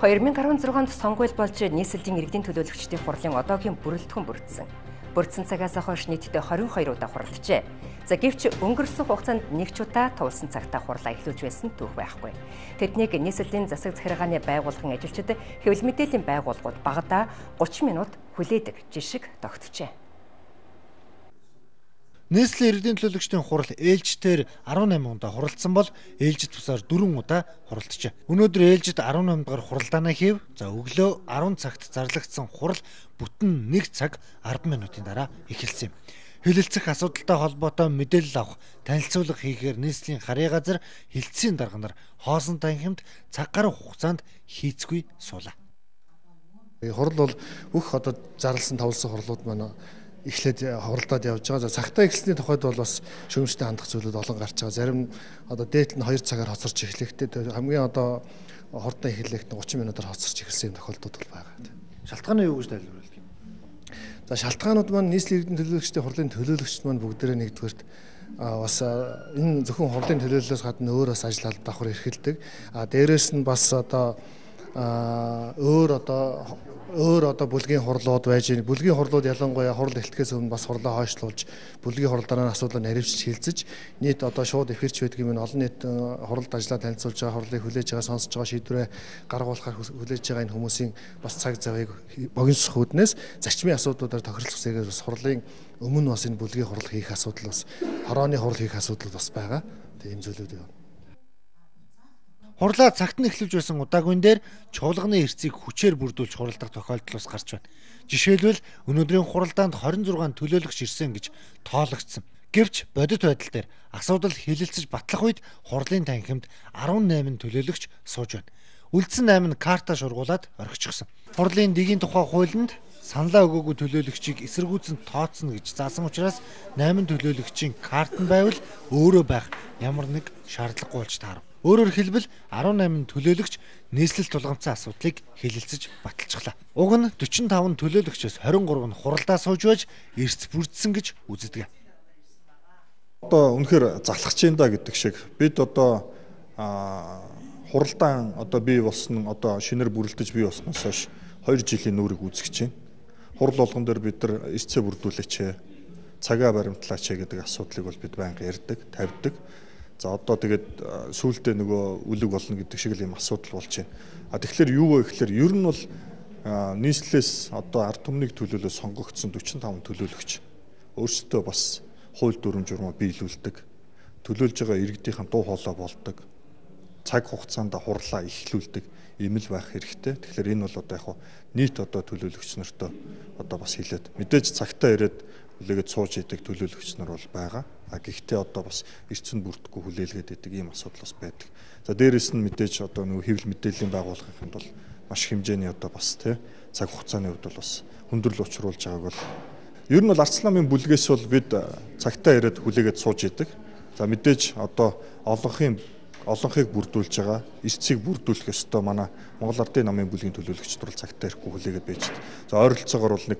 2016 онд сонгуул болж нийслэлийн иргэдийн төлөөлөгчдийн хурлын одоогийн бүрэлдэхүүн бүрдсэн. Бүрдсэн цагаас хойш нийтдээ 22 удаа хурлажээ. За гэвч өнгөрсөн хугацаанд нэг ч удаа тулсан цагтаа хурлаа эхлүүлж байсан түүх байхгүй. Тэднийг нийслэлийн засаг захиргааны байгууллагын ажилчид хэвлэл мэдээллийн байгууллагууд багадаа 30 минут хүлээдэг жишг тогтжээ. Нийслэлийн иргэдийн төлөөлөгчдийн хурал ээлжтээр 18 удаа хуралдсан бол ээлжид тусаар 4 удаа хуралджээ. Өнөөдөр ээлжид 18 дахь хуралдаанаа хийв. За өглөө 10 цагт зарлагдсан хурал бүтэн 1 цаг 10 минутын дараа эхэлсэн юм. Хэлэлцэх асуудалтай холбоотой мэдээлэл авах, танилцуулга хийхээр нийслэлийн харьяа газар хилцээний дарга нар хоосон танхимд цаг гаруй хугацаанд хийцгүй суулаа. Хурал бол бүх одоо зарласан тавлсан хурлууд маань эхлээд хуралдаад явж байгаа. За цагтаа эхэлсний тухайд бол бас шүүмжтэй хандах зүйлүүд олон гарч байгаа. Зарим одоо дээдл нь 2 цагаар хоцорч эхлэхдээ хамгийн одоо хурдан эхлэхэд 30 минутаар хоцорч эхэлсэн тохиолдлууд бол байгаа. Шалтгаан нь юу гэж тайлбарлах юм? За шалтгаанууд маань нийслэлийн иргэдийн төлөөлөгчдийн хурлын төлөөлөгчд маань бүгдээрээ нэгдүгээрт бас энэ зөвхөн хурлын төлөөллөөс гадна өөр бас ажил давхар эрхэлдэг. Дээрээс нь бас одоо өөр одоо бүлгийн хурлууд байж байна. Бүлгийн хурлууд ялангуяа хурал эхлэхээс өмнө бас хурлаа хойшлуулж бүлгийн хурал дараа нь асуудлыг наривчж хилцэж нийт одоо шууд эфирч байдаг юм олон нийт хуралд ажиллаа танилцуулж байгаа хурлыг хүлээж байгаа сонсож байгаа шийдвэрээ гаргуулахаар хүлээж байгаа энэ хүмүүсийн бас цаг завыг богиносох үүднээс зарчмын асуудлуудаар тохирлох зэрэг бас хурлын өмнө бас энэ бүлгийн хурал хийх асуудал бас хорооны хурал хийх асуудал бас байгаа. Тэгээ ийм зүйлүүд байна. Хурлаа цагт нь эхлэж байсан удаагийн дээр чуулганы эрцийг хүчээр бүрдүүлж хуралдах тохиолдол бас гарч байна. Жишээлбэл өнөөдрийн хуралдаанд 26 төлөөлөгч ирсэн гэж тоологдсон. Гэвч бодит байдал дээр асуудал хэлэлцэж батлах үед хурлын танхимд 18 төлөөлөгч сууж байна. Үлдсэн 8 нь карта шургуулад орхичихсон. Хурлын дэгийн тухай хуулинд саналаа өгөөгүй төлөөлөгчийг эсэргүүцэн тооцно гэж заасан учраас 8 төлөөлөгчийн карт нь байвал өөрөө байх ямар нэг шаардлагагүй болж таарав. Өөрөөр хэлбэл 18 төлөөлөгч нийслэл тулгамдсан асуудлыг хэлэлцэж баталчихлаа. Уг нь 45 төлөөлөгчөөс 23 нь хуралдаа сууж байж эрс бүрдсэн гэж үздэг. Одоо үнэхээр залхаж чинь да гэдэг шиг бид одоо хуралдаан одоо бий болсон одоо шинээр бүрэлдэж бий болсноос хойш 2 жилийн нүрийг үүсгэж байна. Хурал болгон дээр бид нар эрсээ бүрдүүлээч, цагаа баримтлаач гэдэг асуудлыг бол бид байнга ярьдаг, тавьдаг. За одоо тэгээд сүүлдээ нөгөө үлэг болно гэдэг шиг л юм асуудал болж байна. Тэгэхээр юу вэ гэхээр ер нь бол нийслэлээс одоо ард түмнийг төлөөлөө сонгогдсон 45 төлөөлөгч өөрсдөө бас хууль дүрм журмаа биелүүлдэг. Төлөөлж байгаа иргэдийнхэн дуу хоолой болдог. Цаг хугацаанд хурлаа эхлүүлдэг ийм л байх хэрэгтэй. Тэгэхээр энэ бол одоо яг нийт одоо төлөөлөгч нартаа одоо бас хэлээд мэдээж цагтаа ирээд хүлээгээд сууж идэг төлөөлөгч нар бол байгаа. Гэхдээ одоо бас эрчим бүрдэхгүй хүлээлгээд идэг ийм асуудал бас байдаг. За дээрэс нь мэдээж одоо нөгөө хэвлэл мэдээллийн байгууллагын бол маш хэмжээний одоо бас цаг хугацааны хувьд бол бас хүндрэл учруулж байгааг бол ер нь бол Арц намын бүлгээс бол бид цагтаа ирээд хүлээгээд сууж идэг. За мэдээж одоо олонхыг бүрдүүлж байгаа, эрцийг бүрдүүлэх ёстой манай Монгол Ардын намын бүлгийн төлөөлөгчд бол цагтаа ирэхгүй хүлээгээд байж байгаа. За ойролцоогоор бол нэг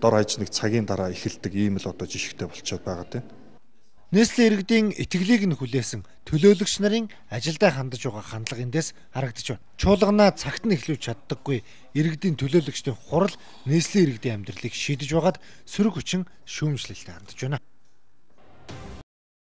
дор хаяж нэг цагийн дараа эхэлдэг ийм л одоо жишгтэй болчиход байгаа тийм. Нийслэлийн иргэдийн итгэлийг нь хүлээсэн төлөөлөгч нарын ажилдаа хандаж байгаа хандлага эндээс харагдаж байна. Чуулганаа цагт нь эхлүүлж чаддаггүй иргэдийн төлөөлөгчдийн хурал нийслэлийн иргэдийн амьдралыг шийдэж байгаад сөрөг хүчин шүүмжлэлтэй хандж байна.